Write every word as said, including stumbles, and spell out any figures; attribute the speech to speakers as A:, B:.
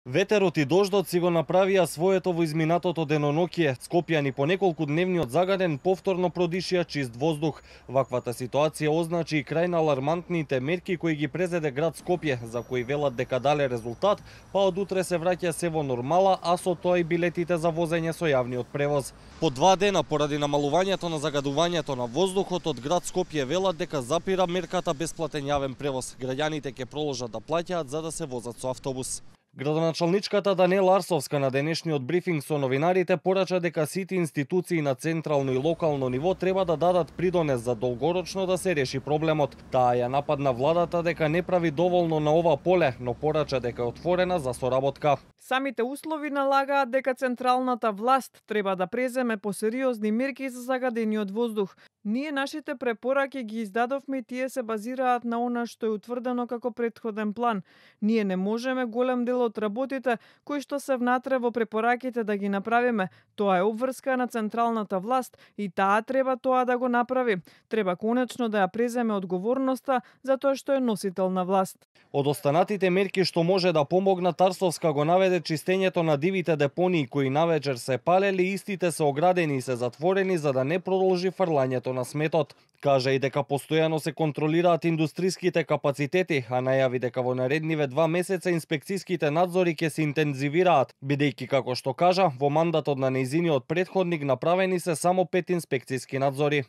A: Ветерот и дождот си го направија своето во изминатото деноноќие. Скопјани по неколку дневни од загаден повторно продишија чист воздух. Ваквата ситуација означи и крај на алармантните мерки кои ги презеде град Скопје, за кои велат дека дале резултат, па од утре се враќа се во нормала, а со тоа и билетите за возење со јавниот превоз. По два дена поради намалувањето на загадувањето на воздухот од град Скопје велат дека запира мерката бесплатен јавен превоз. Граѓаните ќе проложат да плаќаат за да се возат со автобус. Градоначалничката Даниела Арсовска на денешниот брифинг со новинарите порача дека сите институции на централно и локално ниво треба да дадат придонес за долгорочно да се реши проблемот. Таа ја нападна владата дека не прави доволно на ова поле, но порача дека е отворена за соработка.
B: Самите услови налагаат дека централната власт треба да преземе посериозни мерки за загадениот воздух. Ние нашите препораки ги издадовме и тие се базираат на она што е утврдено како претходен план. Ние не можеме голем дел од работите кои што се внатре во препораките да ги направиме. Тоа е обврска на централната власт и таа треба тоа да го направи. Треба конечно да ја преземе одговорноста за тоа што е носител на власт.
A: Од останатите мерки што може да помогнат, Арсовска го наведе чистењето на дивите депонии кои навечер се палели, истите се оградени и се затворени за да не продолжи фрлањето на сметот. Кажа и дека постојано се контролираат индустриските капацитети, а најави дека во наредниве два месеца инспекцијските надзори ќе се интензивираат, бидејќи како што кажа, во мандатот на нејзиниот претходник направени се само пет инспекцијски надзори.